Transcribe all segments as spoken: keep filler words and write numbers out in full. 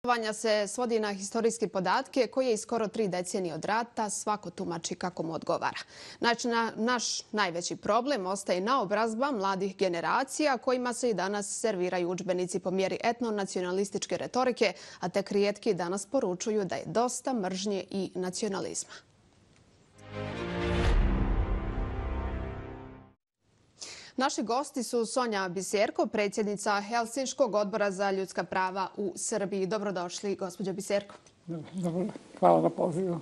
Vanja se svodi na historijske podatke koje iz skoro tri decenije od rata svako tumači kako mu odgovara. Znači, na, naš najveći problem ostaje naobrazba mladih generacija kojima se i danas serviraju udžbenici po mjeri etnonacionalističke retorike, a tek rijetki danas poručuju da je dosta mržnje i nacionalizma. Naši gosti su Sonja Biserko, predsjednica Helsinškog odbora za ljudska prava u Srbiji. Dobrodošli, gospođo Biserko. Dobro, hvala na pozivu.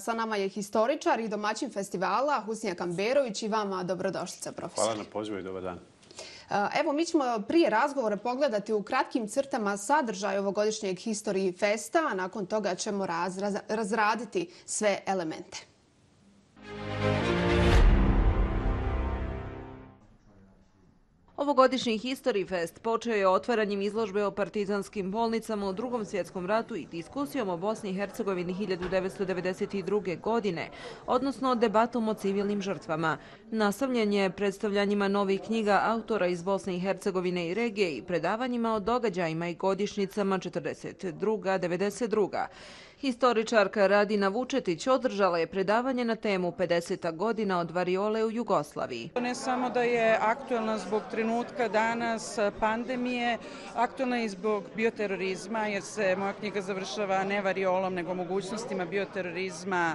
Sa nama je historičar i domaćin festivala Husnija Kamberović i vama dobrodošlica, profesor. Hvala na pozivu i dobar dan. Evo, mi ćemo prije razgovora pogledati u kratkim crtama sadržaj ovogodišnjeg History Festa, a nakon toga ćemo raz, raz, razraditi sve elemente. Ovogodišnji History Fest počeo je otvaranjem izložbe o partizanskim bolnicama u Drugom svjetskom ratu i diskusijom o Bosni i Hercegovini hiljadu devetsto devedeset druge. godine, odnosno debatom o civilnim žrtvama. Nastavljen je predstavljanjima novih knjiga autora iz Bosne i Hercegovine i regije i predavanjima o događajima i godišnjicama četrdeset druga. devedeset druga. Historičarka Radina Vučetić održala je predavanje na temu pedeseta godina od variole u Jugoslaviji. Ne samo da je aktuelna zbog trenutka danas pandemije, aktuelna je i zbog bioterorizma, jer se moja knjiga završava ne variolom, nego mogućnostima bioterorizma,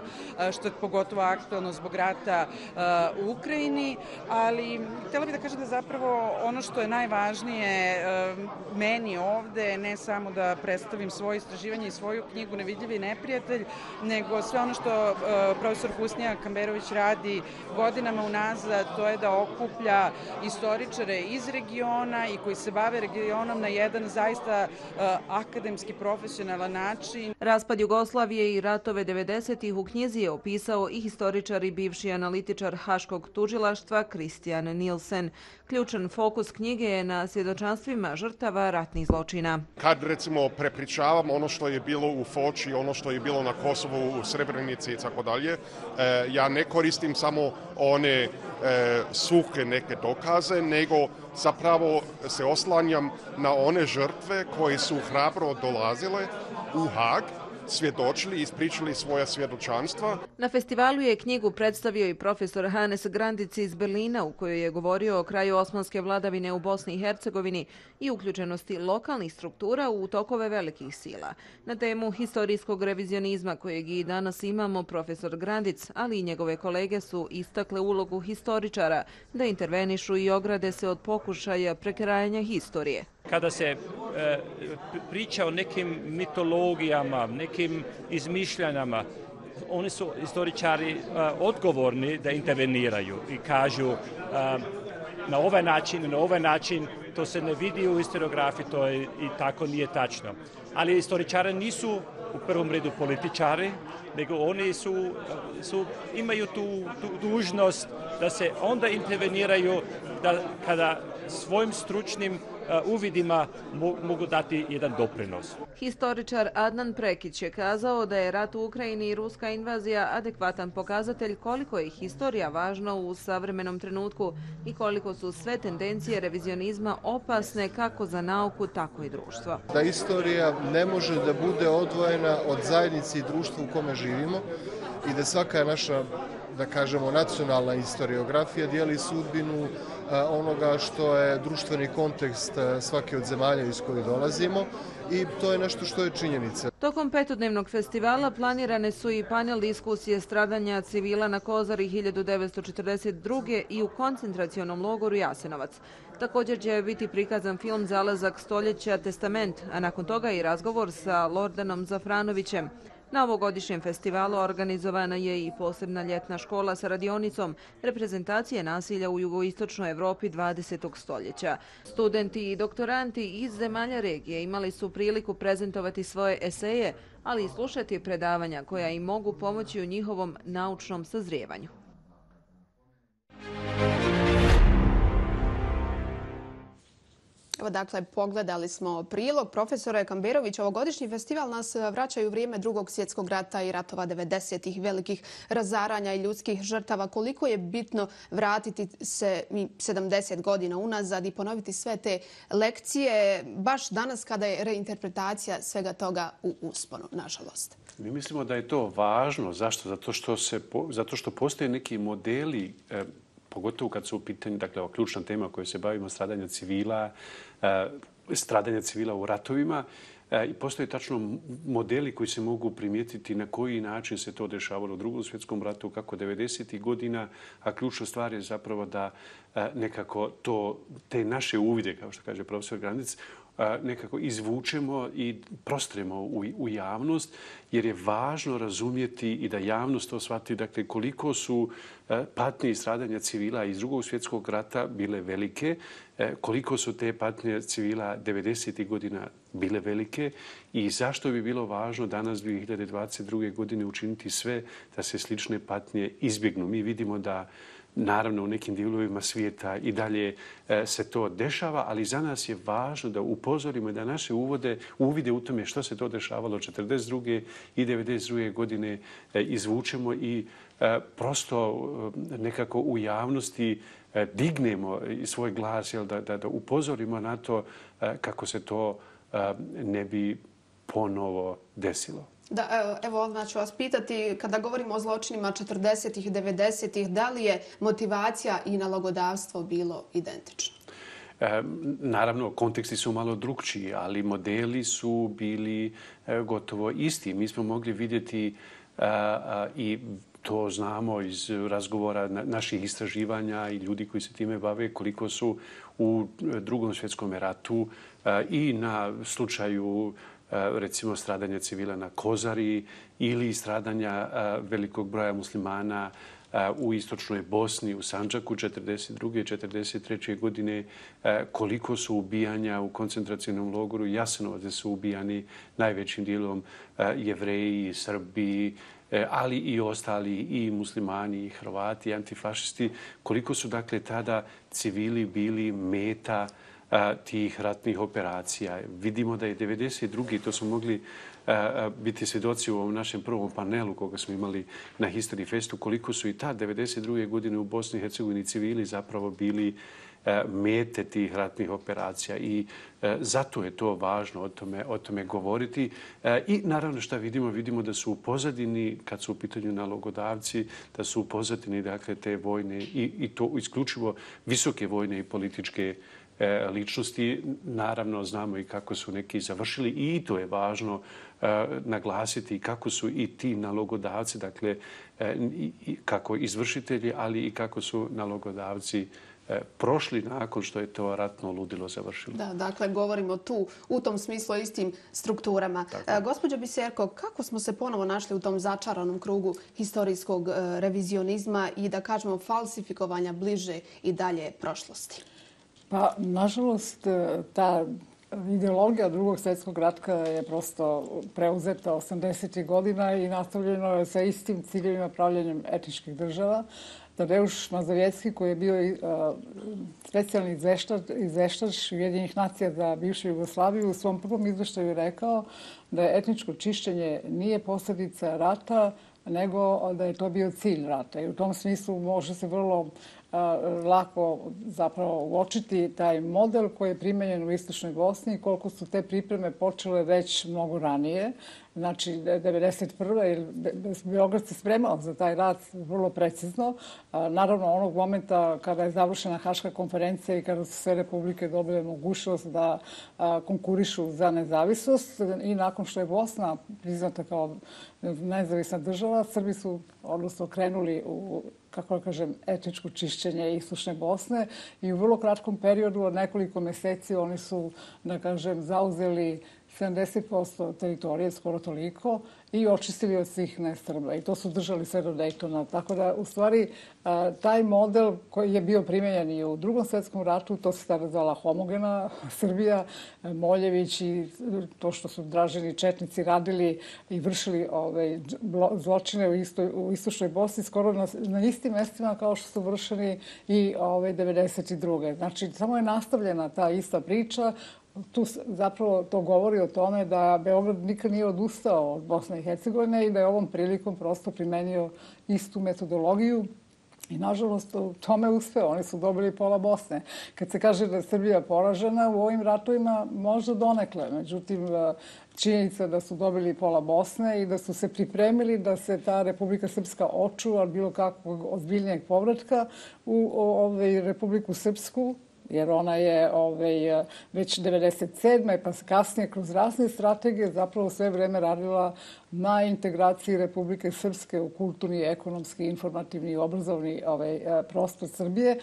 što je pogotovo aktuelno zbog rata u Ukrajini. Ali htjela bih da kažem da zapravo ono što je najvažnije meni ovde, ne samo da predstavim svoje istraživanje i svoju knjigu Nevidljivi neprijatelj, nego sve ono što profesor Husnija Kamberović radi godinama unazad, to je da okuplja istoričare iz regiona i koji se bave regionom na jedan zaista akademski, profesionalan način. Raspad Jugoslavije i ratove devedesetih u knjizi je opisao i historičar i bivši analitičar Haškog tužilaštva Kristijan Nilsen. Ključan fokus knjige je na svjedočanstvima žrtava ratnih zločina. Kad recimo prepričavam ono što je bilo u Foči, ono što je bilo na Kosovu, u Srebrenici i tako dalje, ja ne koristim samo one suhe neke dokaze, nego zapravo se oslanjam na one žrtve koje su hrabro dolazile u Hag, svjedočili i ispričali svoja svjedočanstva. Na festivalu je knjigu predstavio i profesor Hannes Grandic iz Berlina, u kojoj je govorio o kraju osmanske vladavine u Bosni i Hercegovini i uključenosti lokalnih struktura u tokove velikih sila. Na temu historijskog revizionizma kojeg i danas imamo, profesor Grandic, ali i njegove kolege su istakle ulogu historičara da intervenišu i ograde se od pokušaja prekrajanja historije. Kada se e, priča o nekim mitologijama, nekim izmišljanjama, oni su historičari e, odgovorni da interveniraju i kažu e, na ovaj način, na ovaj način, to se ne vidi u historiografiji, to je, i tako nije tačno. Ali historičari nisu u prvom redu političari, nego oni su, su, imaju tu, tu dužnost da se onda interveniraju da, kada svojim stručnim uvidima mogu dati jedan doprinos. Historičar Adnan Prekić je kazao da je rat u Ukrajini i ruska invazija adekvatan pokazatelj koliko je historija važna u savremenom trenutku i koliko su sve tendencije revizionizma opasne kako za nauku, tako i društvo. Da istorija ne može da bude odvojena od zajednice i društva u kome živimo i da svaka naša, da kažemo, nacionalna historiografija dijeli sudbinu onoga što je društveni kontekst svake od zemalja iz koje dolazimo i to je nešto što je činjenica. Tokom petodnevnog festivala planirane su i panel diskusije stradanja civila na Kozari hiljadu devetsto četrdeset druge. i u koncentracionom logoru Jasenovac. Također će biti prikazan film Zalazak stoljeća Testament, a nakon toga i razgovor sa Lordanom Zafranovićem. Na ovogodišnjem festivalu organizovana je i posebna ljetna škola sa radionicom reprezentacije nasilja u jugoistočnoj Evropi dvadesetog stoljeća. Studenti i doktoranti iz zemalja regije imali su priliku prezentovati svoje eseje, ali i slušati predavanja koja im mogu pomoći u njihovom naučnom sazrijevanju. Evo, dakle, pogledali smo prilog profesora Kamberovića. Ovogodišnji festival nas vraćaju u vrijeme Drugog svjetskog rata i ratova devedesetih, velikih razaranja i ljudskih žrtava. Koliko je bitno vratiti se sedamdeset godina unazad i ponoviti sve te lekcije, baš danas kada je reinterpretacija svega toga u usponu, nažalost. Mi mislimo da je to važno. Zašto? Zato što, se, zato što postoje neki modeli, eh, pogotovo kad su u pitanju, dakle, ova ključna tema koju se bavimo, stradanja civila, stradanja civila u ratovima. I postoje tačno modeli koji se mogu primijetiti na koji način se to dešavalo u Drugom svjetskom ratu, kako devedesetih godina, a ključna stvar je zapravo da nekako to, te naše uvide, kao što kaže profesor Grandic, nekako izvučemo i prostremo u, u javnost, jer je važno razumjeti i da javnost to shvati, dakle, koliko su patnje i stradanja civila iz Drugog svjetskog rata bile velike, koliko su te patnje civila devedesetih godina bile velike i zašto bi bilo važno danas dvije hiljade dvadeset druge. godine učiniti sve da se slične patnje izbjegnu. Mi vidimo da naravno u nekim dijelovima svijeta i dalje se to dešava, ali za nas je važno da upozorimo da naše uvode, uvide u tome što se to dešavalo četrdeset druge i devedeset druge. godine izvučemo i prosto nekako u javnosti dignemo svoj glas, jel, da, da, da upozorimo na to kako se to ne bi ponovo desilo. Da, evo, odmah ću vas pitati, kada govorimo o zločinima četrdesetih i devedesetih, da li je motivacija i nalogodavstvo bilo identično? E, naravno, konteksti su malo drukčiji, ali modeli su bili e, gotovo isti. Mi smo mogli vidjeti a, a, i to znamo iz razgovora na, naših istraživanja i ljudi koji se time bave, koliko su u Drugom svjetskom ratu a, i na slučaju recimo stradanja civila na Kozari ili stradanja velikog broja muslimana u istočnoj Bosni, u Sandžaku četrdeset druge. i četrdeset treće. godine, koliko su ubijanja u koncentracionom logoru Jasenovac, gdje su ubijani najvećim dijelom Jevreji, Srbi, ali i ostali i muslimani, i Hrvati, i antifašisti, koliko su dakle tada civili bili meta tih ratnih operacija. Vidimo da je devedeset druge. to smo mogli biti svjedoci u ovom našem prvom panelu koga smo imali na History Festu, koliko su i ta devedeset druge. godine u Bosni i Hercegovini civili zapravo bili mete tih ratnih operacija i zato je to važno o tome, o tome govoriti. I naravno što vidimo, vidimo da su u pozadini, kad su u pitanju nalogodavci, da su u pozadini dakle, te vojne i, i to isključivo visoke vojne i političke ličnosti. Naravno, znamo i kako su neki završili i to je važno naglasiti kako su i ti nalogodavci, dakle, kako izvršitelji, ali i kako su nalogodavci prošli nakon što je to ratno ludilo završilo. Da, dakle, govorimo tu u tom smislu o istim strukturama. E, gospođo Biserko, kako smo se ponovo našli u tom začaranom krugu historijskog e, revizionizma i, da kažemo, falsifikovanja bliže i dalje prošlosti? Pa, nažalost, ta ideologija Drugog svjetskog rata je prosto preuzeta osamdesetih godina i nastavljeno je sa istim ciljevima pravljenjem etničkih država. Tadeusz Mazowiecki, koji je bio uh, specijalni izveštač Ujedinjenih nacija za bivšu Jugoslaviju, u svom prvom izveštaju rekao da je etničko čišćenje nije posljedica rata, nego da je to bio cilj rata. I u tom smislu može se vrlo uh, lako zapravo uočiti taj model koji je primenjen u Istočnoj Bosni i koliko su te pripreme počele već mnogo ranije. Znači, devedeset prve. Beograd se spremao za taj rat vrlo precizno. Naravno, onog momenta kada je završena Haška konferencija i kada su sve republike dobile mogućnost da konkurišu za nezavisnost i nakon što je Bosna priznata kao nezavisna država, Srbi su odnosno krenuli u, kako da kažem, etničko čišćenje Istočne Bosne i u vrlo kratkom periodu od nekoliko mjeseci oni su, da kažem, zauzeli sedamdeset posto teritorije, skoro toliko, i očistili od svih nesrba. I to su držali sve do Dejtona. Tako da, u stvari, taj model koji je bio primenjen i u Drugom svetskom ratu, to se tada zvala homogena Srbija, Moljević i to što su Draženi četnici radili i vršili ove, zločine u, istoj, u istočnoj Bosni, skoro na, na istim mestima kao što su vršeni i ove, devedeset druge. Znači, samo je nastavljena ta ista priča. Tu zapravo to govori o tome da Beograd nikad nije odustao od Bosne i Hercegovine i da je ovom prilikom prosto primenio istu metodologiju. I, nažalost, u tome uspeo. Oni su dobili pola Bosne. Kad se kaže da je Srbija poražena u ovim ratovima, možda donekle. Međutim, činjenica da su dobili pola Bosne i da su se pripremili da se ta Republika Srpska očuva od bilo kakvog ozbiljnijeg povratka u ovaj, Republiku Srpsku, jer ona je ovaj, već devedeset sedme pa kasnije kroz razne strategije zapravo sve vreme radila na integraciji Republike Srpske u kulturni, ekonomski, informativni i obrazovni ovaj, prostor Srbije,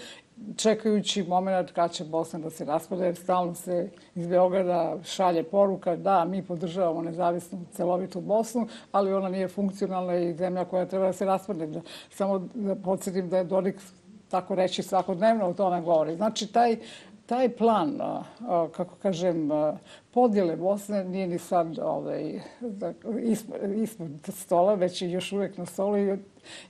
čekajući moment kad će Bosna da se raspada, jer stalno se iz Beograda šalje poruka da mi podržavamo nezavisnu celovitu Bosnu, ali ona nije funkcionalna i zemlja koja treba da se raspadne. Samo da podsjetim da je Dodik, tako reći, svakodnevno o tome govori. Znači, taj, taj plan, kako kažem, podjele Bosne nije ni sad ovaj, ispod stola, već je još uvek na stolu. I,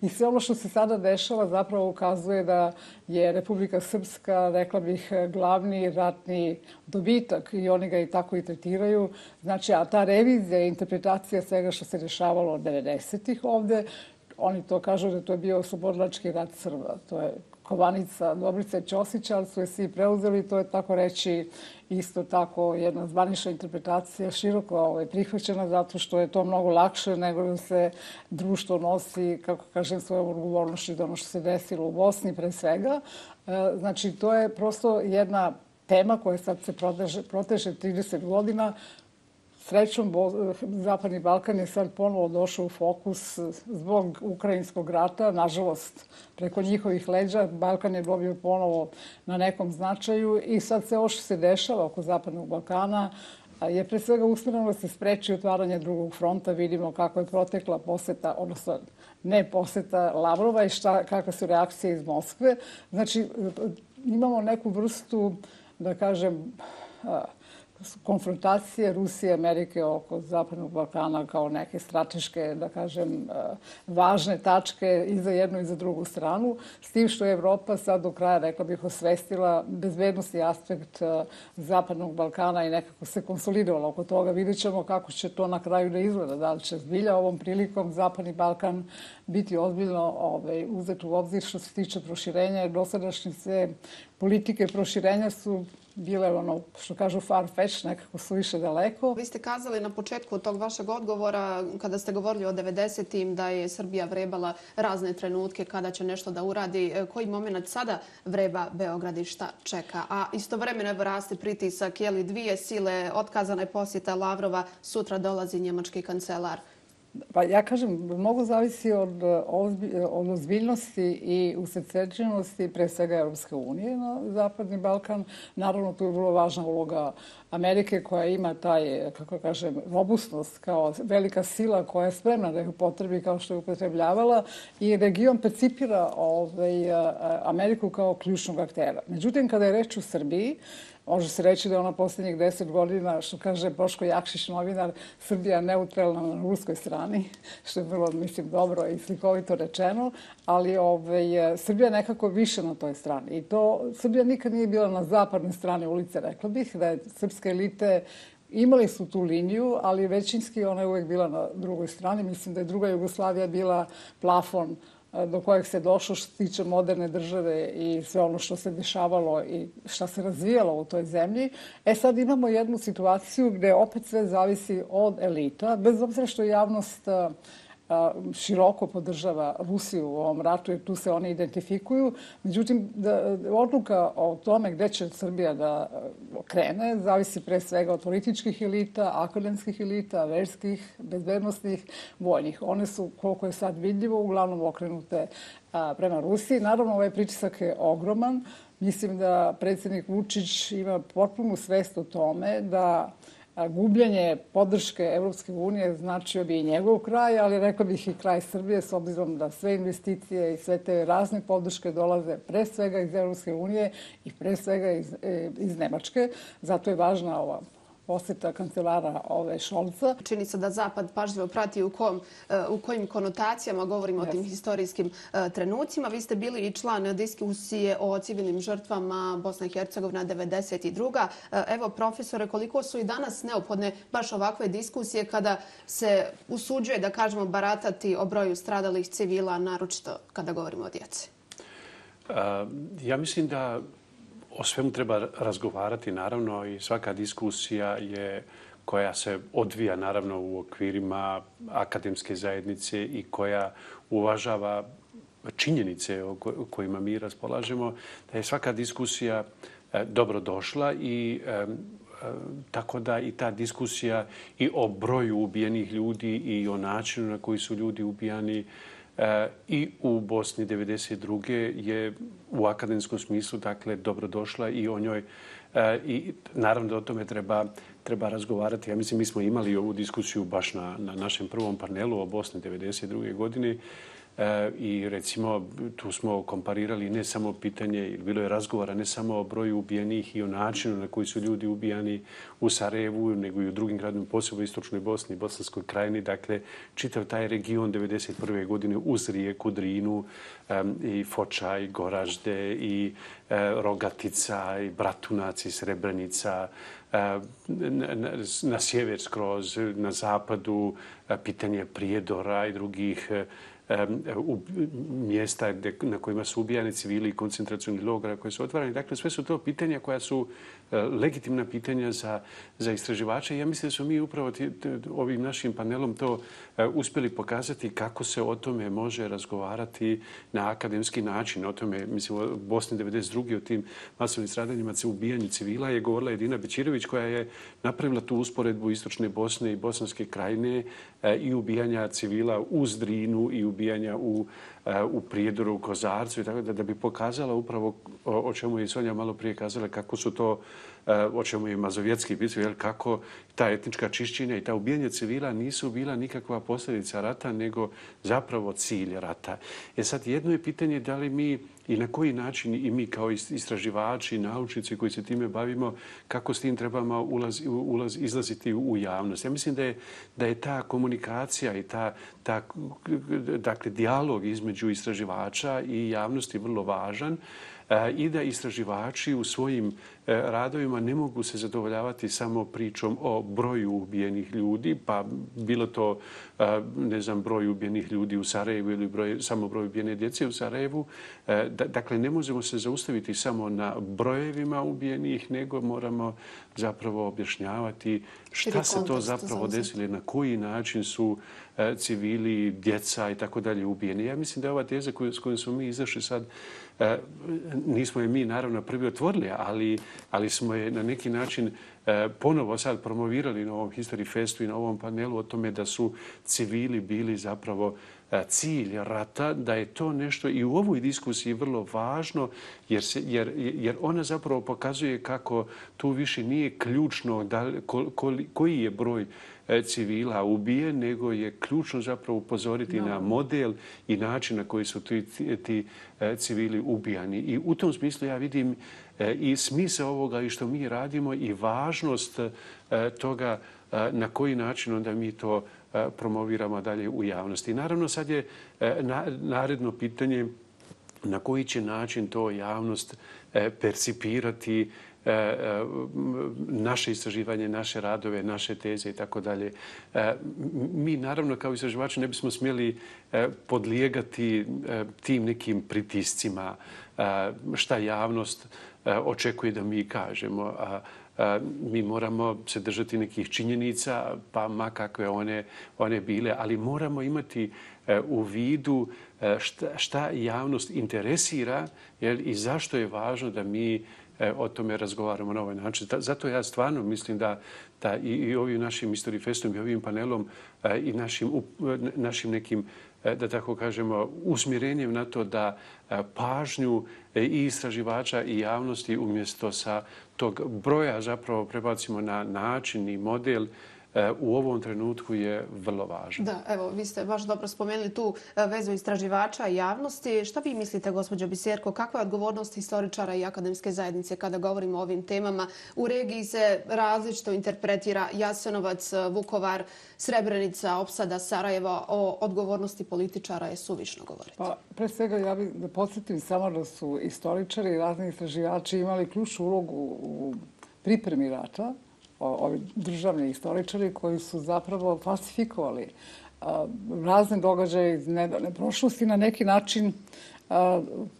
I sve ono što se sada dešava zapravo ukazuje da je Republika Srpska, rekla bih, glavni ratni dobitak i oni ga i tako i tretiraju. Znači, a ta revizija i interpretacija svega što se dešavalo od devedesetih ovde, oni to kažu da to je bio oslobodilački rat Srba. To je kovanica Dobrice Ćosića, ali su je svi preuzeli. To je, tako reći, isto tako jedna zvanična interpretacija široko ovaj, prihvaćena zato što je to mnogo lakše nego da se društvo nosi, kako kažem, svojom odgovornošću za ono što se desilo u Bosni pre svega. Znači, to je prosto jedna tema koja sad se proteže, proteže trideset godina. Srećom, Zapadni Balkan je sad ponovo došao u fokus zbog ukrajinskog rata. Nažalost, preko njihovih leđa Balkan je dobio ponovo na nekom značaju i sad sve ovo što se dešava oko Zapadnog Balkana je pre svega usmjereno da se spreči otvaranje drugog fronta. Vidimo kako je protekla poseta, odnosno ne poseta Lavrova i šta, kakve su reakcije iz Moskve. Znači, imamo neku vrstu, da kažem, konfrontacije Rusije i Amerike oko Zapadnog Balkana kao neke strateške, da kažem, važne tačke i za jednu i za drugu stranu. S tim što je Evropa sad do kraja, rekla bih, osvestila bezbednosni aspekt Zapadnog Balkana i nekako se konsolidovala oko toga. Vidjet ćemo kako će to na kraju da izgleda. Da li će zbilja ovom prilikom Zapadni Balkan biti ozbiljno ovaj, uzet u obzir što se tiče proširenja, jer dosadašnje sve politike proširenja su bile ono što kažu far-fetched, nekako su više daleko. Vi ste kazali na početku tog vašeg odgovora, kada ste govorili o devedesetim, da je Srbija vrebala razne trenutke kada će nešto da uradi. Koji moment sada vreba Beograd i šta čeka? A istovremeno evo raste pritisak, je li dvije sile, otkazana je posjeta Lavrova, sutra dolazi njemački kancelar. Pa ja kažem, mnogo zavisi od, od ozbiljnosti i usredsređenosti pre svega Europske unije na Zapadni Balkan. Naravno, tu je vrlo važna uloga Amerike koja ima taj, kako kažem, robustnost kao velika sila koja je spremna da ih upotrebi kao što je upotrebljavala i region percipira ovaj, Ameriku kao ključnog aktera. Međutim, kada je reč u Srbiji, može se reći da je ona posljednjih deset godina, što kaže Boško Jakšić, novinar, Srbija neutralna na ruskoj strani, što je vrlo, mislim, dobro i slikovito rečeno, ali ovaj, Srbija nekako više na toj strani. I to, Srbija nikad nije bila na zapadnoj strani ulice, rekla bih, da je srpske elite imali su tu liniju, ali većinski ona je uvek bila na drugoj strani. Mislim da je druga Jugoslavija bila plafon do kojeg se došlo što se tiče moderne države i sve ono što se dešavalo i što se razvijalo u toj zemlji. E sad imamo jednu situaciju gde opet sve zavisi od elita, bez obzira što javnost široko podržava Rusiju u ovom ratu jer tu se oni identifikuju. Međutim, da, odluka o tome gde će Srbija da krene zavisi pre svega od političkih elita, akademskih elita, verskih, bezbednostnih, vojnih. One su, koliko je sad vidljivo, uglavnom okrenute a, prema Rusiji. Naravno, ovaj pritisak je ogroman. Mislim da predsjednik Vučić ima potpunu svest o tome da gubljenje podrške Evropske unije značio bi i njegov kraj, ali rekla bih i kraj Srbije, s obzirom da sve investicije i sve te razne podrške dolaze pre svega iz Evropske unije i pre svega iz, iz Nemačke. Zato je važna ova posjeta kancelara ove Šolca. Čini se da Zapad pažljivo prati u, kom, u kojim konotacijama govorimo yes. o tim historijskim uh, trenucima. Vi ste bili i član diskusije o civilnim žrtvama Bosna i Hercegovina devedeset druga. Uh, evo, profesore, koliko su i danas neophodne baš ovakve diskusije kada se usuđuje, da kažemo, baratati o broju stradalih civila, naročito kada govorimo o djeci? Uh, ja mislim da o svemu treba razgovarati, naravno, i svaka diskusija je koja se odvija, naravno, u okvirima akademske zajednice i koja uvažava činjenice o kojima mi raspolažemo, da je svaka diskusija dobro došla i tako da i ta diskusija i o broju ubijenih ljudi i o načinu na koji su ljudi ubijani i u Bosni devedeset druge je u akademskom smislu, dakle, dobrodošla i o njoj i naravno da o tome treba, treba razgovarati. Ja mislim, mi smo imali ovu diskusiju baš na, na našem prvom panelu o Bosni devedeset druge godine i recimo tu smo komparirali ne samo pitanje, bilo je razgovora ne samo o broju ubijenih i o načinu na koji su ljudi ubijani u Sarajevu, nego i u drugim gradima, posebno u Istočnoj Bosni i Bosanskoj krajini. Dakle, čitav taj region devedeset prve godine uz rijeku Drinu i Foča i Goražde i Rogatica i Bratunac i Srebrenica, na, na sjever skroz, na zapadu pitanje Prijedora i drugih u mjesta na kojima su ubijani civili i koncentracioni logora koji su otvarani. Dakle, sve su to pitanja koja su legitimna pitanja za, za istraživače. Ja mislim da smo mi upravo t, t, ovim našim panelom to uspjeli pokazati kako se o tome može razgovarati na akademski način. O tome, mislim, u Bosni devedeset druge o tim masovnim stradanjima, ubijanju civila je govorila Edina Bećirović, koja je napravila tu usporedbu Istočne Bosne i Bosanske krajine i ubijanja civila uz Drinu i ubijanja u, u Prijedoru, u Kozarcu i tako da, da bi pokazala upravo o, o čemu je Sonja malo prije kazala, kako su to, o čemu je Mazovjetski pisao, kako ta etnička čišćenja i ta ubijanja civila nisu bila nikakva posljedica rata, nego zapravo cilj rata. E sad, jedno je pitanje da li mi i na koji način i mi kao istraživači, naučnici koji se time bavimo, kako s tim trebamo ulaz, ulaz, izlaziti u javnost. Ja mislim da je, da je ta komunikacija i ta, ta dakle, dijalog između istraživača i javnosti vrlo važan i da istraživači u svojim radovima ne mogu se zadovoljavati samo pričom o broju ubijenih ljudi, pa bilo to, ne znam, broj ubijenih ljudi u Sarajevu ili broj, samo broj ubijene djece u Sarajevu. Dakle, ne možemo se zaustaviti samo na brojevima ubijenih, nego moramo zapravo objašnjavati šta se to zapravo desilo, na koji način su civili, djeca i tako dalje ubijeni. Ja mislim da je ova teza koju, s kojom smo mi izašli sad, nismo je mi naravno prvi otvorili, ali, ali smo je na neki način ponovo sad promovirali na ovom History Festu i na ovom panelu o tome da su civili bili zapravo cilj rata, da je to nešto i u ovoj diskusiji vrlo važno, jer, se, jer, jer ona zapravo pokazuje kako tu više nije ključno da, ko, ko, koji je broj civila ubijen, nego je ključno zapravo upozoriti no. na model i način na koji su ti, ti, ti civili ubijani. I u tom smislu ja vidim i smisao ovoga i što mi radimo i važnost toga na koji način onda mi to promoviramo dalje u javnosti. Naravno, sad je naredno pitanje na koji će način to javnost percipirati naše istraživanje, naše radove, naše teze i tako dalje. Mi naravno kao istraživači ne bismo smjeli podlijegati tim nekim pritiscima šta javnost očekuje da mi kažemo. Mi moramo se držati nekih činjenica, pa ma kakve one, one bile, ali moramo imati u vidu šta, šta javnost interesira, jel, i zašto je važno da mi o tome razgovaramo na ovaj način. Zato ja stvarno mislim da, da i, i ovim našim History Festom i ovim panelom i našim, našim nekim, da tako kažemo, usmjerenjem na to da pažnju i istraživača i javnosti umjesto sa tog broja zapravo prebacimo na način i model u ovom trenutku je vrlo važno. Da, evo, vi ste baš dobro spomenuli tu vezu istraživača i javnosti. Šta vi mislite, gospođo Biserko, kakva je odgovornost historičara i akademske zajednice kada govorimo o ovim temama? U regiji se različito interpretira Jasenovac, Vukovar, Srebrenica, opsada Sarajeva. O odgovornosti političara je suvišno govoriti. Pa, pre svega, ja bih da podsjetim samo da su istoričari i razni istraživači imali ključnu ulogu u pripremi rata, ovi državni istoričari koji su zapravo falsifikovali razne događaje iz nedavne prošlosti. Na neki način,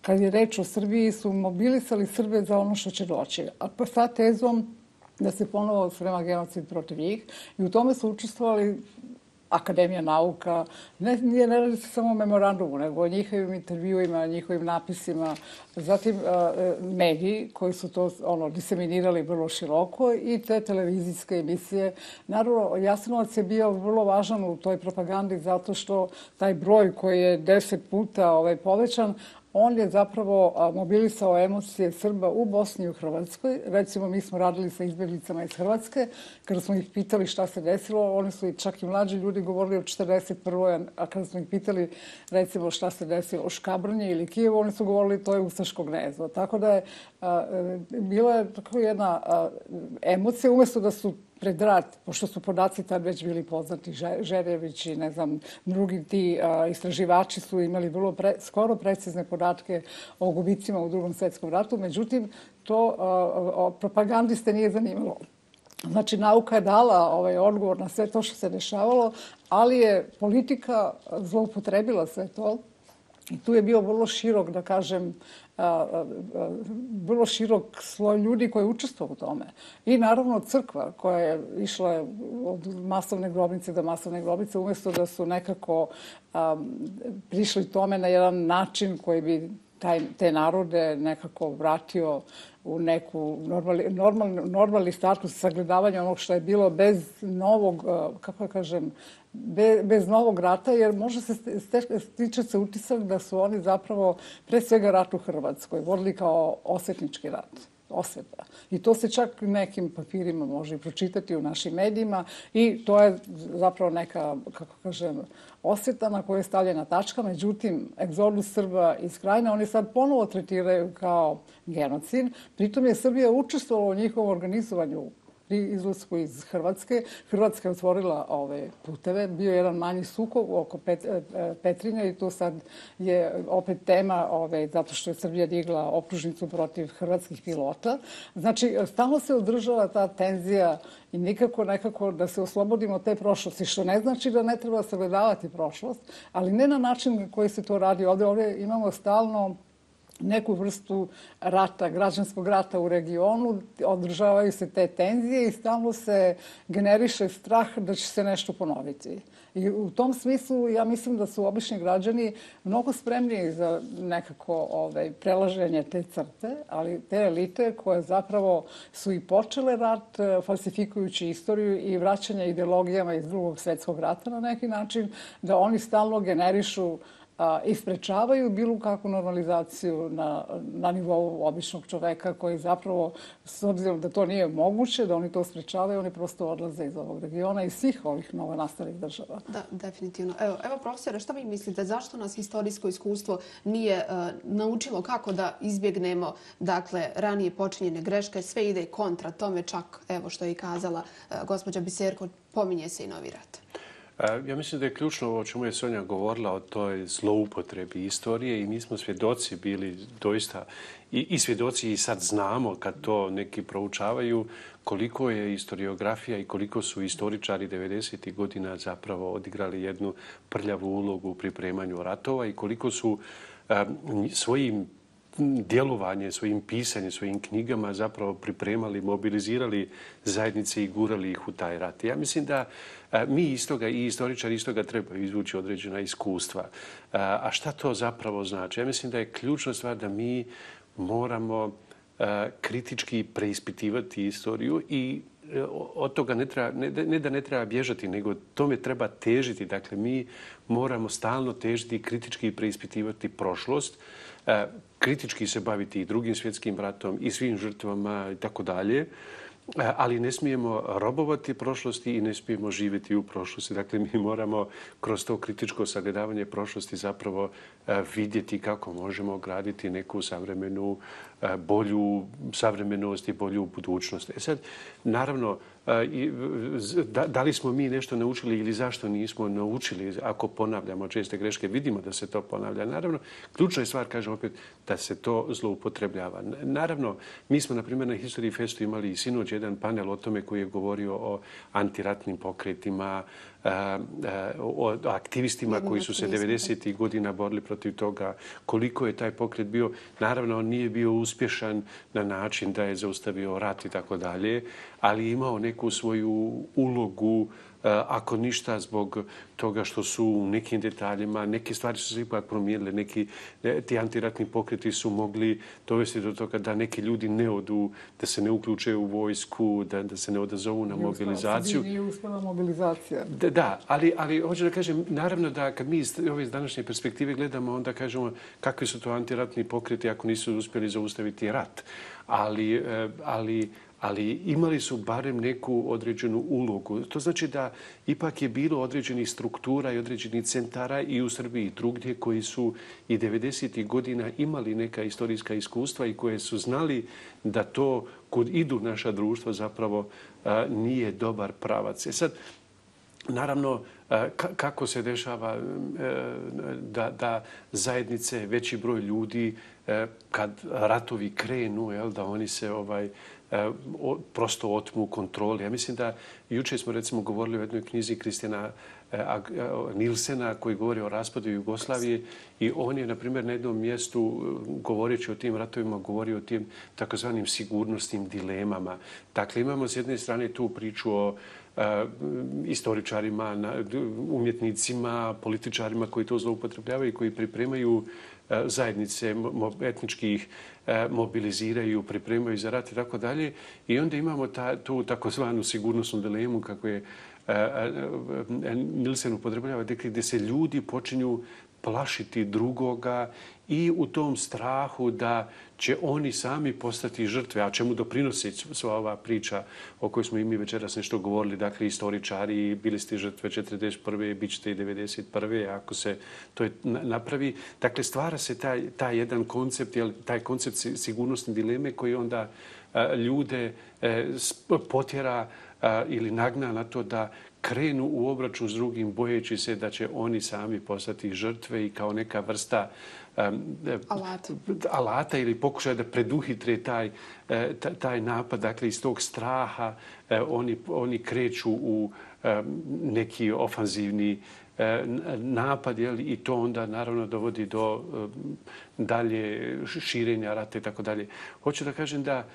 kad je reč o Srbiji, su mobilisali Srbe za ono što će doći. A sa tezom da se ponovo sprema genocid protiv njih. I u tome su učestvovali Akademija nauka, ne, ne radi se samo o memorandumu, nego o njihovim intervjuima, njihovim napisima, zatim mediji koji su to ono, diseminirali vrlo široko i te televizijske emisije. Naravno, Jasenovac je bio vrlo važan u toj propagandi zato što taj broj koji je deset puta ovaj, povećan, on je zapravo mobilisao emocije Srba u Bosni i u Hrvatskoj. Recimo, mi smo radili sa izbjeglicama iz Hrvatske. Kada smo ih pitali šta se desilo, oni su čak i mlađi ljudi govorili o četrdeset prvoj. A kada smo ih pitali, recimo, šta se desilo u Škabrnji ili Kijevu, oni su govorili to je ustaško gnezdo. Tako da je bila je tako jedna emocija, umjesto da su pred rat, pošto su podaci tad već bili poznati, Žerjević i ne znam, drugi ti a, istraživači su imali vrlo pre, skoro precizne podatke o gubicima u Drugom svjetskom ratu, međutim, to a, a, propagandiste nije zanimalo. Znači, nauka je dala ovaj odgovor na sve to što se dešavalo, ali je politika zloupotrebila sve to. I tu je bio vrlo širok, da kažem, vrlo širok sloj ljudi koji je učestvovao u tome. I naravno crkva koja je išla od masovne grobnice do masovne grobnice, umjesto da su nekako prišli tome na jedan način koji bi taj, te narode nekako vratio u neku normalni, normalni, normalni status sagledavanja onog što je bilo bez novog, kako da kažem, Be, bez novog rata, jer može se stiče se utisak da su oni zapravo pre svega rat u Hrvatskoj vodili kao osvetnički rat. Osveta. I to se čak nekim papirima može i pročitati u našim medijima i to je zapravo neka, kako kažem, osveta na kojoj je stavljena tačka. Međutim, egzodus Srba iz Krajine oni sad ponovo tretiraju kao genocid. Pritom je Srbija učestvovala u njihovom organizovanju pri izlasku iz Hrvatske. Hrvatska je otvorila ove puteve. Bio je jedan manji sukob oko Pet, Petrinja i tu sad je opet tema ove, zato što je Srbija digla optužnicu protiv hrvatskih pilota. Znači, stalno se održava ta tenzija i nikako nekako da se oslobodimo te prošlosti, što ne znači da ne treba sagledavati prošlost, ali ne na način koji se to radi ovdje. Ovdje imamo stalno neku vrstu rata, građanskog rata u regionu, održavaju se te tenzije i stalno se generiše strah da će se nešto ponoviti. I u tom smislu ja mislim da su obični građani mnogo spremniji za nekako ovaj, prelaženje te crte, ali te elite koje zapravo su i počele rat falsifikujući istoriju i vraćanje ideologijama iz Drugog svjetskog rata na neki način, da oni stalno generišu i sprečavaju bilo kakvu normalizaciju na, na nivou običnog čoveka koji zapravo, s obzirom da to nije moguće, da oni to sprečavaju, oni prosto odlaze iz ovog regiona i svih ovih novonastalih država. Da, definitivno. Evo, evo profesore, šta vi mislite? Zašto nas historijsko iskustvo nije uh, naučilo kako da izbjegnemo dakle, ranije počinjene greške? Sve ide kontra tome, čak, evo što je i kazala uh, gospođa Biserko, pominje se i novi rat. Ja mislim da je ključno o čemu je Sonja govorila o toj zloupotrebi istorije i mi smo svjedoci bili doista i, i svjedoci i sad znamo kad to neki proučavaju koliko je historiografija i koliko su istoričari devedesetih godina zapravo odigrali jednu prljavu ulogu u pripremanju ratova i koliko su um, svojim djelovanje, svojim pisanjem, svojim knjigama zapravo pripremali, mobilizirali zajednice i gurali ih u taj rat. Ja mislim da mi iz toga i istoričari iz toga trebaju izvući određena iskustva. A šta to zapravo znači? Ja mislim da je ključna stvar da mi moramo kritički preispitivati istoriju i od toga ne, treba, ne, ne da ne treba bježati, nego tome treba težiti. Dakle, mi moramo stalno težiti i kritički preispitivati prošlost, kritički se baviti i drugim svjetskim ratom i svim žrtvama i tako dalje, ali ne smijemo robovati prošlosti i ne smijemo živjeti u prošlosti. Dakle, mi moramo kroz to kritičko sagledavanje prošlosti zapravo vidjeti kako možemo graditi neku savremenu, bolju savremenost i bolju budućnost. E sad, naravno, da li smo mi nešto naučili ili zašto nismo naučili, ako ponavljamo česte greške, vidimo da se to ponavlja. Naravno, ključna je stvar, kažem opet, da se to zloupotrebljava. Naravno, mi smo, na primjer, na History Festu imali i sinoć jedan panel o tome koji je govorio o antiratnim pokretima, o aktivistima koji su se devedesetih godina borili protiv toga, koliko je taj pokret bio. Naravno, on nije bio uspješan na način da je zaustavio rat i tako dalje, ali imao neku svoju ulogu, ako ništa zbog toga što su u nekim detaljima, neke stvari su se ipak promijenile, neki ti antiratni pokreti su mogli dovesti do toga da neki ljudi ne odu, da se ne uključe u vojsku, da, da se ne odazovu na mobilizaciju. Nije uspjela mobilizacija. Da, da, ali, ali hoću da kažem, naravno da kad mi iz ove današnje perspektive gledamo, onda kažemo kakvi su to antiratni pokreti ako nisu uspjeli zaustaviti rat. Ali, ali ali imali su barem neku određenu ulogu. To znači da ipak je bilo određenih struktura i određenih centara i u Srbiji i drugdje koji su i devedesetih godina imali neka istorijska iskustva i koje su znali da to kud idu naša društva zapravo a, nije dobar pravac. E sad, naravno, kako se dešava da, da zajednice, veći broj ljudi, kad ratovi krenu, jel, da oni se ovaj, prosto otmu kontroli. Ja mislim da juče smo recimo govorili o jednoj knjizi Kristijana Nilsena koji govori o raspadu Jugoslavije i on je, na primjer, na jednom mjestu govoreći o tim ratovima govorio o tim takozvanim sigurnosnim dilemama. Dakle, imamo s jedne strane tu priču o istoričarima, umjetnicima, političarima koji to zloupotrebljavaju i koji pripremaju zajednice etničkih, mobiliziraju, pripremaju za rat i tako dalje. I onda imamo ta, tu takozvanu sigurnosnu dilemu kako je Nilsen upotrebljava, gdje se ljudi počinju plašiti drugoga i u tom strahu da će oni sami postati žrtve, a čemu doprinosi sva ova priča o kojoj smo i mi večeras nešto govorili, dakle istoričari, bili ste žrtve četrdeset prve, bit ćete i devedeset prve, ako se to napravi. Dakle, stvara se taj, taj jedan koncept, taj koncept sigurnosne dileme koji onda ljude potjera ili nagna na to da krenu u obračun s drugim bojeći se da će oni sami postati žrtve i kao neka vrsta um, alata. alata ili pokušaja da preduhitre taj, taj napad. Dakle, iz tog straha oni, oni kreću u neki ofanzivni napad, jel, i to onda naravno dovodi do dalje širenja rata i tako dalje. Hoću da kažem da,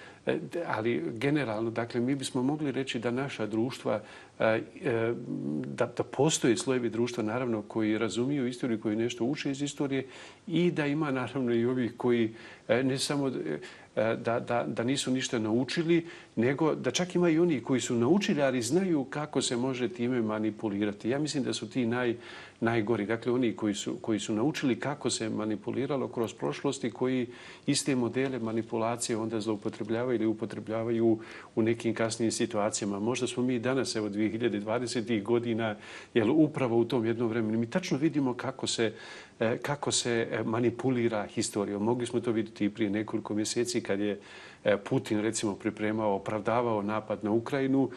ali generalno, dakle, mi bismo mogli reći da naša društva, da, da postoje slojevi društva, naravno, koji razumiju istoriju, koji nešto uče iz istorije i da ima, naravno, i ovih koji ne samo da, da, da nisu ništa naučili, nego da čak ima i oni koji su naučili, ali znaju kako se može time manipulirati. Ja mislim da su ti naj, najgori. Dakle, oni koji su, koji su naučili kako se manipuliralo kroz prošlosti, koji iste modele manipulacije onda zloupotrebljavaju ili upotrebljavaju u nekim kasnijim situacijama. Možda smo mi danas, evo, dvije hiljade dvadesetih godina, jel, upravo u tom jednom vremenu, mi tačno vidimo kako se, kako se manipulira historijom. Mogli smo to vidjeti i prije nekoliko mjeseci kad je Putin, recimo, pripremao, opravdavao napad na Ukrajinu.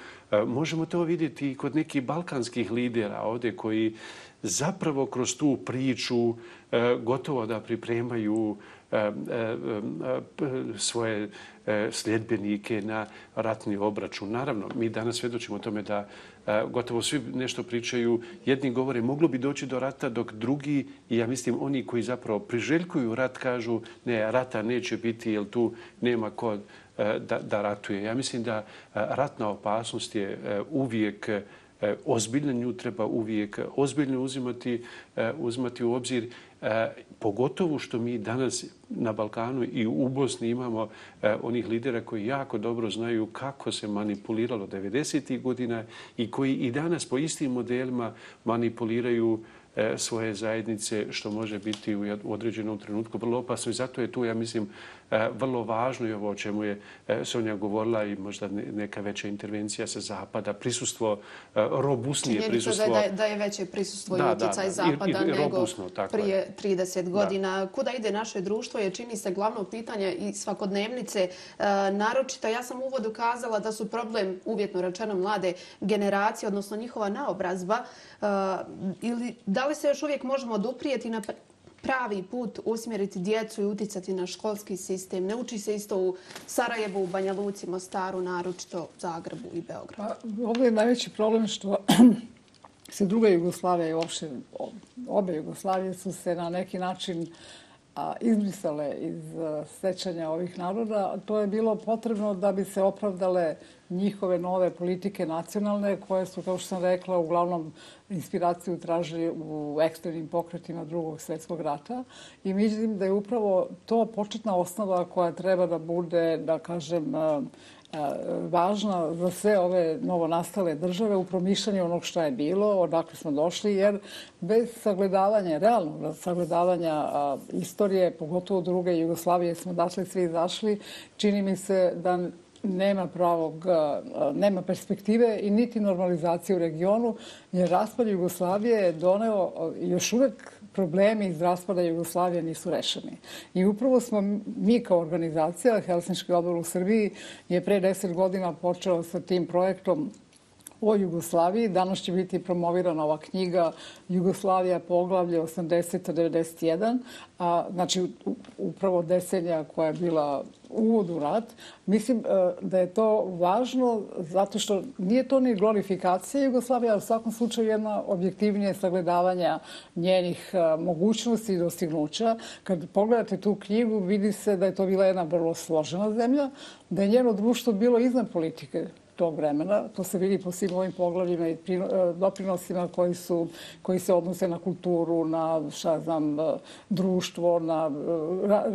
Možemo to vidjeti i kod nekih balkanskih lidera ovdje koji zapravo kroz tu priču gotovo da pripremaju svoje sljedbenike na ratni obračun. Naravno, mi danas svjedočimo tome da gotovo svi nešto pričaju. Jedni govore moglo bi doći do rata, dok drugi, i ja mislim oni koji zapravo priželjkuju rat, kažu ne, rata neće biti jer tu nema ko da, da ratuje. Ja mislim da ratna opasnost je uvijek ozbiljno, nju treba uvijek ozbiljno uzimati, uzimati u obzir Pogotovo što mi danas na Balkanu i u Bosni imamo onih lidera koji jako dobro znaju kako se manipuliralo devedesetih godina i koji i danas po istim modelima manipuliraju svoje zajednice, što može biti u određenom trenutku vrlo opasno. I zato je tu, ja mislim, vrlo važno i ovo o čemu je Sonja govorila i možda neka veća intervencija sa Zapada, prisustvo, robusnije prisustvo. Činjenica da, da je veće prisustvo da, i utjecaj da, da. Zapada I, i nego robusno, prije trideset godina. Da. Kuda ide naše društvo je, čini se, glavno pitanje i svakodnevnice. E, naročito, ja sam u uvodu kazala da su problem, uvjetno rečeno, mlade generacije, odnosno njihova naobrazba. E, ili da li se još uvijek možemo oduprijeti na pravi put usmjeriti djecu i uticati na školski sistem? Ne uči se isto u Sarajevu, u Banja Luci, Mostaru, naročito Zagrebu i Beogradu. Pa, ovdje je najveći problem što se druga Jugoslavija i uopšte obe Jugoslavije su se na neki način izbrisale iz sećanja ovih naroda. To je bilo potrebno da bi se opravdale njihove nove politike nacionalne, koje su, kao što sam rekla, uglavnom inspiraciju tražili u ekstremnim pokretima Drugog svjetskog rata. I mislim da je upravo to početna osnova koja treba da bude, da kažem, važna za sve ove novonastale države u promišljanju onog što je bilo, odakle smo došli, jer bez sagledavanja, realnog sagledavanja istorije, pogotovo druge Jugoslavije, smo datle svi izašli, čini mi se da nema pravog, nema perspektive i niti normalizacije u regionu, jer raspad Jugoslavije je doneo još uvek problemi iz raspada Jugoslavije nisu rešeni. I upravo smo mi kao organizacija, Helsinški odbor u Srbiji, je pre deset godina počeo sa tim projektom o Jugoslaviji. Danas će biti promovirana ova knjiga Jugoslavija poglavlje osamdeset devedeset jedan, a, znači upravo decenija koja je bila uvod u rat. Mislim da je to važno zato što nije to ni glorifikacija Jugoslavije, ali u svakom slučaju jedna objektivnije sagledavanja njenih mogućnosti i dostignuća. Kad pogledate tu knjigu, vidi se da je to bila jedna vrlo složena zemlja, da je njeno društvo bilo iznad politike tog vremena. To se vidi po svim ovim poglavljima i doprinosima koji, su, koji se odnose na kulturu, na šta znam, društvo, na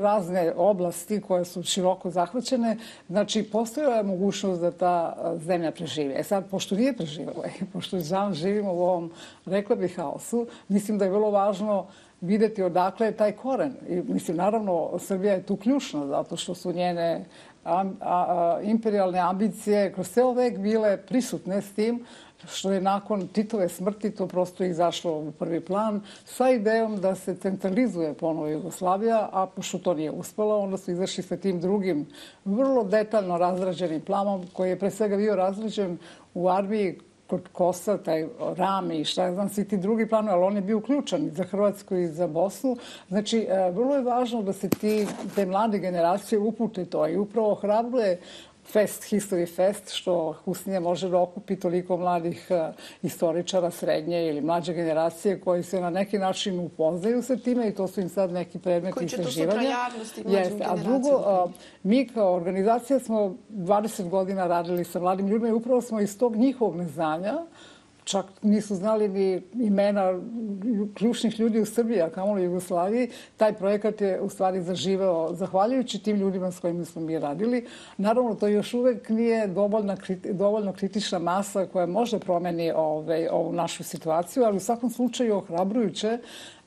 razne oblasti koje su široko zahvaćene. Znači, postojala je mogućnost da ta zemlja preživi. E sad, pošto nije preživjela i pošto živimo u ovom, rekla bih, haosu, mislim da je vrlo važno vidjeti odakle je taj koren. I, mislim, naravno, Srbija je tu ključna zato što su njene A, a, a, imperialne ambicije kroz ceo vek bile prisutne s tim što je nakon Titove smrti to prosto izašlo u prvi plan sa idejom da se centralizuje ponovo Jugoslavija, a pošto to nije uspelo, onda su izašli sa tim drugim vrlo detaljno razrađenim planom koji je pre svega bio razrađen u armiji kod Kosa, taj Rami i šta znam, svi ti drugi planovi, ali on je bio uključen i za Hrvatsku i za Bosnu. Znači, vrlo je važno da se ti, te mlade generacije upute to i upravo hrabruje Fest, History Fest, što Husnija može da okupi toliko mladih uh, istoričara srednje ili mlađe generacije koji se na neki način upoznaju sa time i to su im sad neki predmeti istraživanja. Koji će to sutra javnosti mlađim generacijama? A drugo, uh, mi kao organizacija smo dvadeset godina radili sa mladim ljudima i upravo smo iz tog njihovog neznanja, čak nisu znali ni imena ključnih ljudi u Srbiji, a kamoli u Jugoslaviji. Taj projekat je u stvari zaživeo zahvaljujući tim ljudima s kojima smo mi radili. Naravno, to još uvek nije dovoljna, dovoljno kritična masa koja može promeni ove, ovu našu situaciju, ali u svakom slučaju ohrabrujuće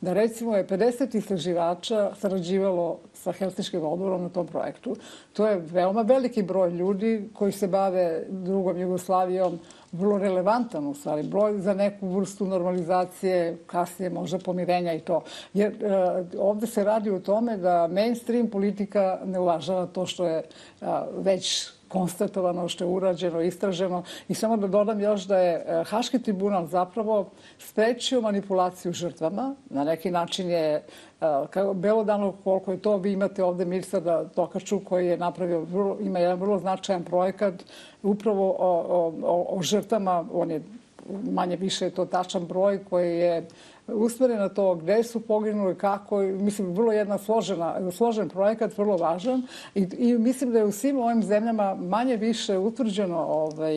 da recimo je pedeset istraživača sarađivalo sa Helsinškim odborom na tom projektu. To je veoma veliki broj ljudi koji se bave drugom Jugoslavijom, vrlo relevantan u stvari broj za neku vrstu normalizacije, kasnije možda pomirenja i to. Jer e, ovdje se radi o tome da mainstream politika ne uvažava to što je a, već konstatovano, što je urađeno, istraženo. I samo da dodam još da je Haški tribunal zapravo sprečio manipulaciju žrtvama. Na neki način je kao belodano koliko je to. Vi imate ovdje Mirsada Tokaču koji je napravio, vrlo, ima jedan vrlo značajan projekat upravo o, o, o, o žrtvama. On je manje više to tačan broj koji je usmjeren na to gdje su poginuli, kako, mislim, vrlo jedna složena, složen projekat, vrlo važan i, i mislim da je u svim ovim zemljama manje više utvrđeno ovaj,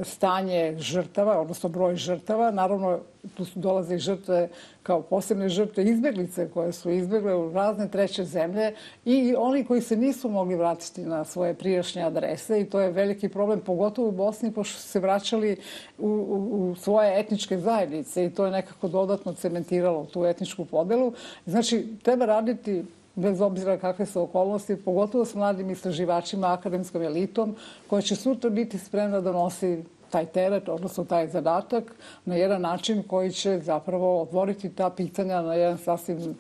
stanje žrtava, odnosno broj žrtava. Naravno, tu su dolaze i žrtve kao posebne žrtve izbeglice koje su izbegle u razne treće zemlje i oni koji se nisu mogli vratiti na svoje prijašnje adrese i to je veliki problem, pogotovo u Bosni, pošto su se vraćali u, u, u svoje etničke zajednice i to je nekako dodatno cementiralo tu etničku podelu. Znači, treba raditi bez obzira kakve su okolnosti, pogotovo s mladim istraživačima, akademskom elitom, koja će sutra biti spremna da nosi taj teret, odnosno taj zadatak, na jedan način koji će zapravo otvoriti ta pitanja na jedan sasvim,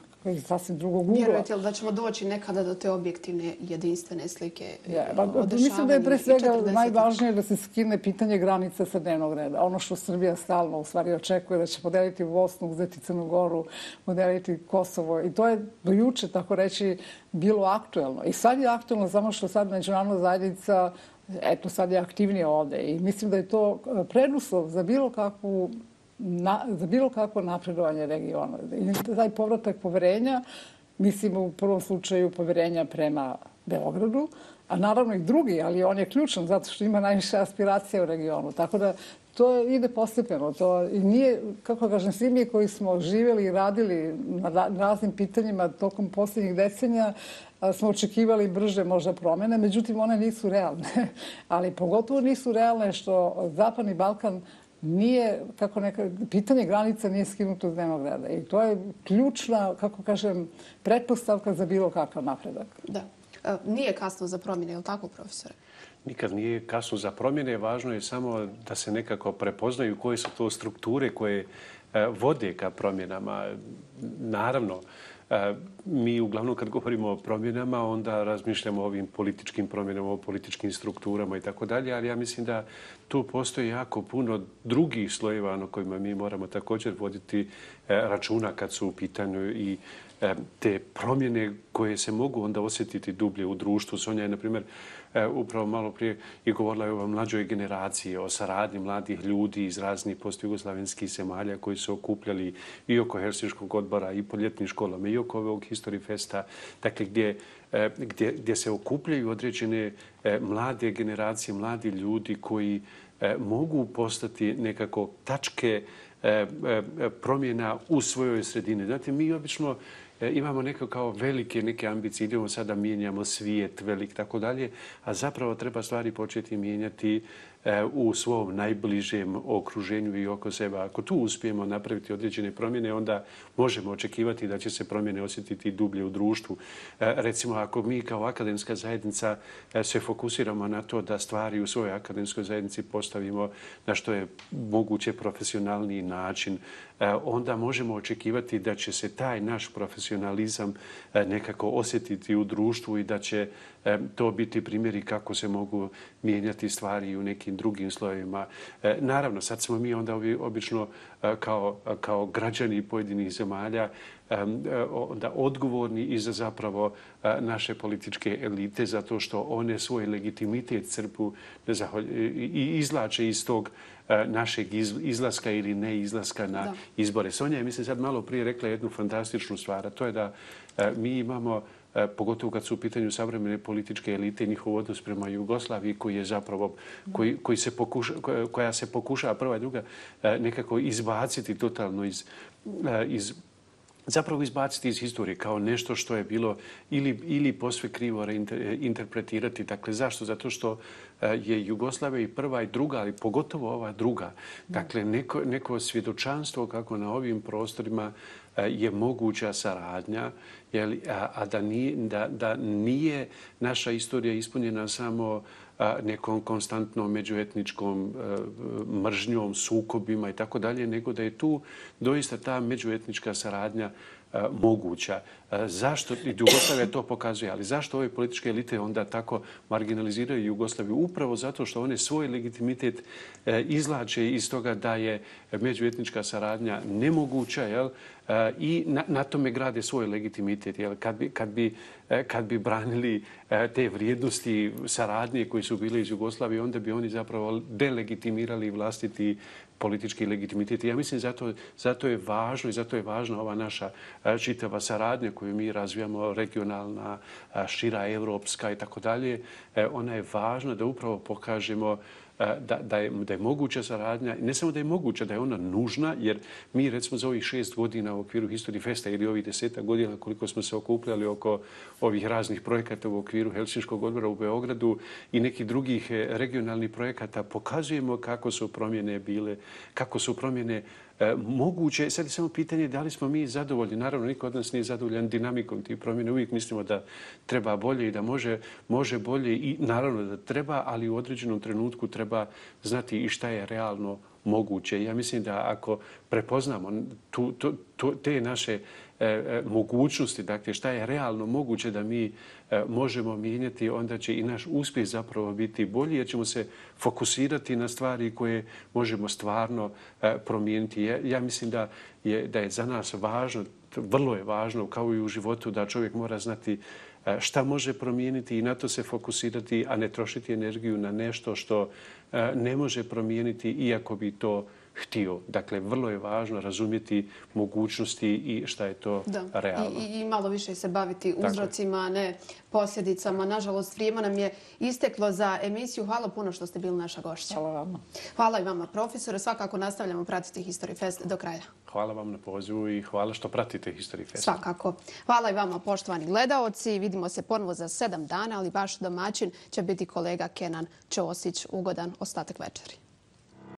sasvim drugog ugla. Vjerujete li da ćemo doći nekada do te objektivne jedinstvene slike ja, ba, mislim da je pre svega najvažnije da se skine pitanje granica sa dnevnog reda. Ono što Srbija stalno u stvari očekuje da će podeliti Bosnu, uzeti Crnu Goru, podeliti Kosovo. I to je do juče, tako reći, bilo aktuelno. I sad je aktuelno samo što sad međunarodna zajednica eto sad je aktivnije ovde. I mislim da je to preduslov za bilo kakvu Na, za bilo kakvo napredovanje regiona. I taj povratak poverenja, mislim u prvom slučaju poverenja prema Beogradu, a naravno i drugi, ali on je ključan zato što ima najviše aspiracija u regionu. Tako da to ide postepeno. To i nije, kako kažem, svi mi koji smo živjeli i radili na raznim pitanjima tokom posljednjih decenija smo očekivali brže možda promjene, međutim one nisu realne. Ali pogotovo nisu realne što Zapadni Balkan nije, kako neka, pitanje granica nije skinuto s dnevnog reda. I to je ključna, kako kažem, pretpostavka za bilo kakav napredak. Da. E, nije kasno za promjene, je li tako, profesore? Nikad nije kasno za promjene. Važno je samo da se nekako prepoznaju koje su to strukture koje vode ka promjenama. Naravno, mi uglavnom kad govorimo o promjenama, onda razmišljamo o ovim političkim promjenama, o političkim strukturama i tako dalje, ali ja mislim da tu postoji jako puno drugih slojeva na kojima mi moramo također voditi računa kad su u pitanju i te promjene koje se mogu onda osjetiti dublje u društvu. Sonja je, na primjer, upravo malo prije i govorila je o mlađoj generaciji, o saradnji mladih ljudi iz raznih postjugoslavenskih zemalja koji su okupljali i oko Helsinškog odbora i po ljetnim školama i oko ovog History Festa, dakle gdje, gdje, gdje se okupljaju određene mlade generacije, mladi ljudi koji mogu postati nekako tačke promjena u svojoj sredini. Znate, mi obično imamo neko kao velike neke ambicije, idemo sada mijenjamo svijet velik, tako dalje, a zapravo treba stvari početi mijenjati u svom najbližem okruženju i oko sebe. Ako tu uspijemo napraviti određene promjene, onda možemo očekivati da će se promjene osjetiti dublje u društvu. Recimo, ako mi kao akademska zajednica se fokusiramo na to da stvari u svojoj akademskoj zajednici postavimo na što je moguće profesionalniji način, onda možemo očekivati da će se taj naš profesionalizam nekako osjetiti u društvu i da će to biti primjeri kako se mogu mijenjati stvari u nekim drugim slojevima. Naravno, sad smo mi onda obično kao, kao građani pojedinih zemalja onda odgovorni i za zapravo naše političke elite zato što one svoj legitimitet crpu i izlače iz tog našeg izlaska ili neizlaska na da. izbore. Sonja je, mislim, sad malo prije rekla jednu fantastičnu stvar, a to je da mi imamo, pogotovo kad su u pitanju savremene političke elite, njihov odnos prema Jugoslaviji koji je zapravo, koji, koji se pokuša, koja se pokušava prva i druga nekako izbaciti totalno iz, iz zapravo izbaciti iz historije kao nešto što je bilo ili, ili posve krivo interpretirati. Dakle, zašto? Zato što je Jugoslavija i prva i druga, ali pogotovo ova druga. Dakle, neko, neko svjedočanstvo kako na ovim prostorima je moguća saradnja, jeli, a, a da, nije, da, da nije naša istorija ispunjena samo nekom konstantnom međuetničkom mržnjom, sukobima i tako dalje, nego da je tu doista ta međuetnička saradnja moguća. Zašto, i Jugoslavija to pokazuje, ali zašto ove političke elite onda tako marginaliziraju Jugoslaviju? Upravo zato što one svoj legitimitet izlače iz toga da je međuetnička saradnja nemoguća, jel? I na, na tome grade svoj legitimitet. Jel? Kad bi, kad bi, kad bi branili te vrijednosti saradnje koji su bile iz Jugoslavije, onda bi oni zapravo delegitimirali vlastiti politički legitimitet. Ja mislim zato, zato je važno i zato je važna ova naša čitava saradnja koju mi razvijamo, regionalna, šira, evropska i tako dalje. Ona je važna da upravo pokažemo da, da, je, da je moguća saradnja. Ne samo da je moguća, da je ona nužna, jer mi recimo za ovih šest godina u okviru History Festa ili ovih desetak godina koliko smo se okupljali oko ovih raznih projekata u okviru Helsinškog odbora u Beogradu i nekih drugih regionalnih projekata, pokazujemo kako su promjene bile, kako su promjene E, moguće. Sad je samo pitanje da li smo mi zadovoljni. Naravno, niko od nas nije zadovoljan dinamikom tih promjena. Uvijek mislimo da treba bolje i da može, može bolje i naravno da treba, ali u određenom trenutku treba znati i šta je realno moguće. Ja mislim da ako prepoznamo tu, tu, tu, te naše e, mogućnosti, dakle šta je realno moguće da mi e, možemo mijenjati, onda će i naš uspjeh zapravo biti bolji jer ćemo se fokusirati na stvari koje možemo stvarno e, promijeniti. Ja, ja mislim da je, da je za nas važno, vrlo je važno kao i u životu da čovjek mora znati šta može promijeniti i na to se fokusirati, a ne trošiti energiju na nešto što ne može promijeniti iako bi to htio. Dakle, vrlo je važno razumjeti mogućnosti i šta je to da. realno. I, I malo više se baviti uzrocima, a ne posljedicama. Nažalost, vrijeme nam je isteklo za emisiju. Hvala puno što ste bili naša gošća. Hvala vama. Hvala i vama, profesore. Svakako nastavljamo pratiti History Fest do kraja. Hvala vam na pozivu i hvala što pratite History Fest. Svakako. Hvala i vama, poštovani gledaoci. Vidimo se ponovo za sedam dana, ali vaš domaćin će biti kolega Kenan Ćosić. Ugodan ostatak večeri.